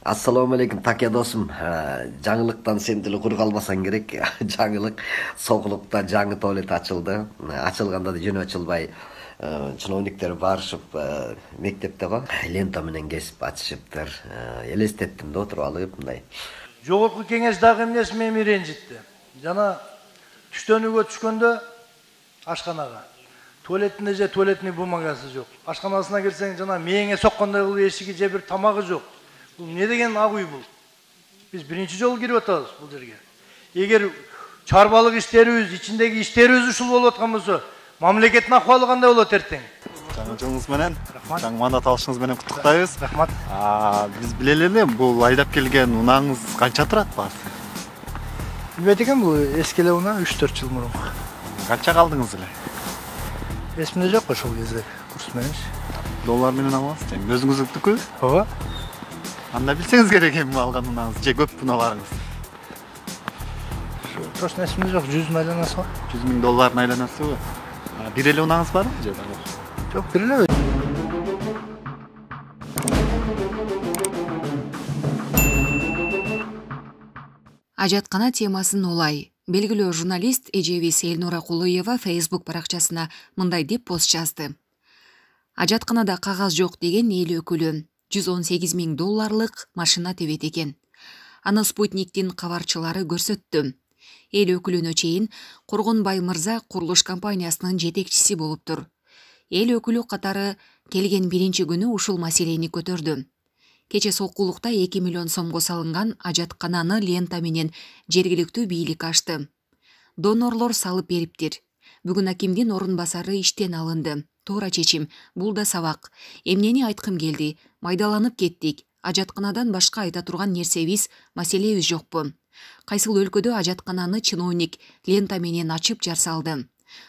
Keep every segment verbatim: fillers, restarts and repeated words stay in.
Assalomu alaykum Takya dostum. Жаңылыктан сен деле кур калбасаң керек. Жаңылык Соголукта жаңы туалет ачылды. Ачылганда да жөнү ачылбай чиновниктер барышып мектепте го лента менен кесип ачышыптыр. Элестеттим да отуруп алып мындай. Жогорку кеңеш дагы эмнеси мени ренжитти. Жана түштөнүүгө түшкөндө ашканага туалетинде же туалетный бумагасы жок. Ашканасына келсең жана мээңе соккондой кылып эшиги же бир тамагы жок. Бул не деген ак үй бул? Биз биринчи жолу кирип атабыз бул жерге. Эгер чарбалык иштерибиз, ичиндеги иштерибиз ушул болуп аткан болсо, мамлекеттин акыбалы кандай болот эртең? Жаңы жылыңыз менен, жаңы мандат алышыңыз менен куттуктайбыз. Рахмат. Биз билели эле бул айдап келген унааңыз канча турат баасы? Билбейт экен, бул эски эле унаа үч төрт жыл мурун. Канча калдыңыз эле? Эсимде жок ошол кезде курс менен. Доллар менен аласыз, тең өзүңүздүкү? Ооба. Анда билсеңиз керек эми алган унааңыз же көп унааларыңыз? Точно эсимде жок, жүз миң айланасы бар. жүз миң доллардын айланасыбы? Бир эле унааңыз барбы же дагы? Жок, бир эле. Ажаткана темасын улай. Белгилүү журналист эжебиз Элнура Кулуева Facebook баракчасына мындай деп пост жазды. Ажатканада кагаз жок деген эл өкүлү жүз он сегиз миң долларлык машина тебет экен. Аны Спутниктин кабарчылары көрсөттү. Эл өкүлүнө чейин Коргонбай мырза курулуш компаниясынын жетекчиси болуптур. Эл өкүлү катары келген биринчи күнү ушул маселени көтөрдү. Кече Сокулукта эки миллион сомго салынган ажаткананы лента менен жергиликтүү бийлик ачты. Донорлор салып бериптир. Бүгүн акимдин орун басары иштен алынды. Туура чечим, бул да сабак. Эмнени айткым келди? Майдаланып кеттик. Ажатканадан башка айта турган нерсебиз, маселебиз жокпу? Кайсыл өлкөдө ажаткананы чиновник лента менен ачып жарсалды?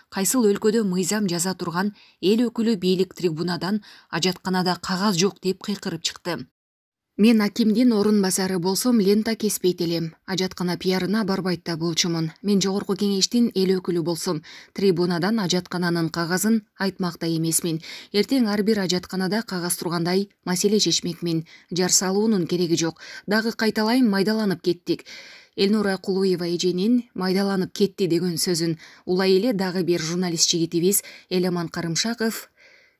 Кайсыл өлкөдө мыйзам жаза турган эл өкүлү бийлик трибунадан ажатканада кагаз жок деп кыйкырып чыкты? Мен акимдин орун басары болсом лента кеспейт элем. Ажаткана пиарына барбайт да болчумун. Мен жогорку кеңештин эл өкүлү болсом, трибунадан ажаткананын кагазын айтмак да эмесмин. Эртең ар бир ажатканада кагаз тургандай маселе чечмекмин. Жар салуунун кереги жок. Дагы кайталайм, майдаланып кеттик. Элнура Кулуева эженин майдаланып кетти деген сөзүн улай эле дагы бир журналист жигитибиз Элеман Карымшаков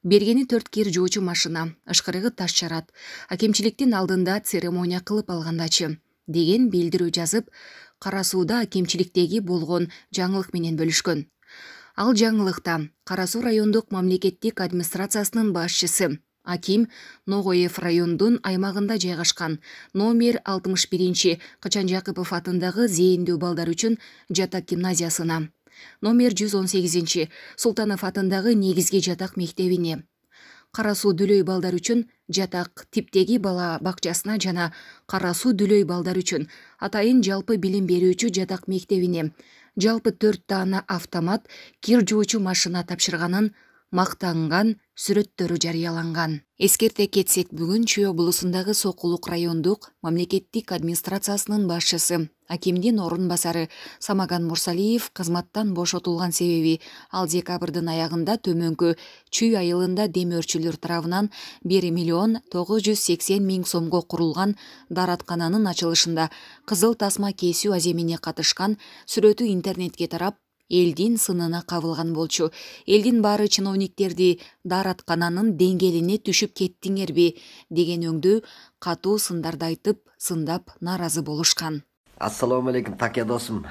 бергени төрт кир жуучу машина, ышкырыгы таш жарат. Акимчиликтин алдында церемония кылып алгандачы деген билдирүү жазып, Кара Сууда акимчиликтеги болгон жаңылык менен бөлүшкөн. Ал жаңылыкта Кара Суу райондук мамлекеттик администрациясынын башчысы Аким Ногоев райондун аймагында жайгашкан номер алтымыш биринчи Кычан Жакыпов атындагы зээндүү балдар үчүн жатак гимназиясына, номер жүз он сегизинчи Султанов атындагы негизги жатак мектебине, Кара Суу Дүлөй балдар үчүн жатак типтеги бала бакчасына жана Кара Суу Дүлөй балдар үчүн атайын жалпы билим берүүчү жатак мектебине жалпы төрт даана автомат кир жуучу машина тапшырганын мактанган сүрөттөрү жарыяланган. Эскерте кетсек, бүгүн Чүй облусундагы Сокулук райондук мамлекеттик администрациясынын башчысы акимдин орун басары Самаган Мурсалиев кызматтан бошотулган себеби ал декабрдын аягында төмөнкү Чүй айылында демөөрчүлөр тарабынан бир миллион тогуз жүз сексен миң сомго курулган даараткананын ачылышында кызыл тасма кесүү аземине катышкан сүрөтү интернетке тарап, элдин сынына кабылган болчу. Элдин баары чиновниктерди даараткананын деңгээлине түшүп кеттиңерби деген өңдүү катуу сындарды айтып, сындап нааразы болушкан. Assalomu alaykum Takya dostum.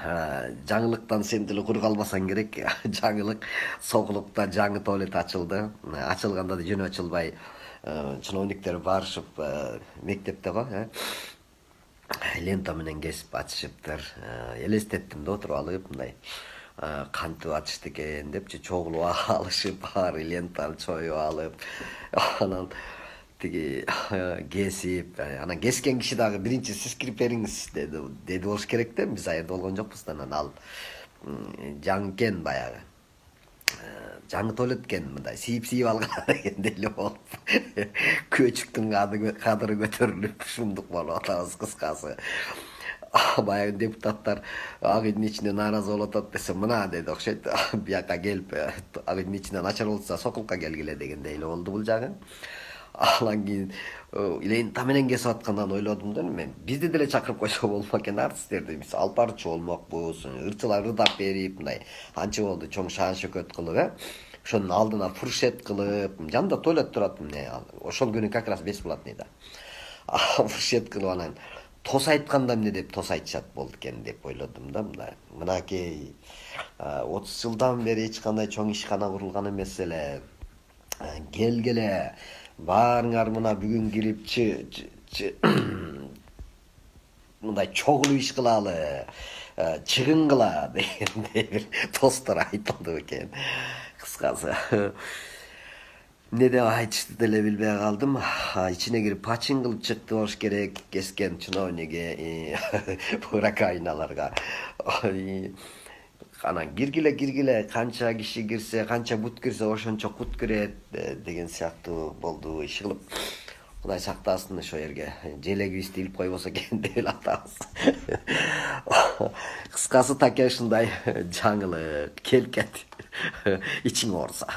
Жаңылыктан сен деле кур калбасаң керек. Жаңылык Соголукта жаңы туалет ачылды. Ачылганда да жөнү ачылбай чиновниктер барышып мектепте го лента менен кесип ачышыптыр. Элестеттим да отуруп алып мындай кантип ачышты экен депчи чогулуп алышып, баары лентаны чоюп алып, анан тиги кесип, анан кескен киши дагы биринчи сиз кирип бериңиз деди, деди болуш керек да, биз аерде болгон жокпуз да, анан ал жаңы экен баягы. Жаңы туалет экен, мындай сийип-сийип алган экен деле болуп. Көчүктүн кадыры көтөрүлүп, шумдук болуп атабыз кыскасы. Баягы депутаттар ак үйдүн ичинде нааразы болуп атат десе, мына деди окшойт, бияка келип ак үйдүн ичинен начар болса Сокулукка келгиле дегендей эле болду бул жагы. Анан кийин лента менен кесип аткандан ойлодум да, мен бизди деле чакырып койсо болмок экен артисттерди. Биз алып барчу болмокпуз, ырчылар ырдап берип, мындай анча болду чоң шаан шөкөт кылып, э. Ошонун алдына фуршет кылып, жанында туалет турат эмне. Ошол күнү как раз бесплатныйда. Фуршет кылып анан тос айтканда эмне деп тос айтышат болду экен деп ойлодум да, мындай. Мынакей отуз жылдан бери эч кандай чоң ишкана курулган эмес эле. Келгиле, баарыңар мына бүгүн кирип мындай чогулуп иш кылалы, чыгын кыла дегендей бир тосттор айтылды экен. Кыскасы эмне деп айтышты деле билбей калдым. Ичине кирип пачин кылып чыкты болуш керек кескен чиновниги буракайналарга. Анан киргиле киргиле канча киши кирсе, канча бут кирсе ошончо кут кирет деген сыяктуу болду. Иш кылып Кудай сактасын ошо жерге желегибизди илип койбосо экен деп эле атабыз. Кыскасы таке ушундай жаңылык келкет ичиң ооруса.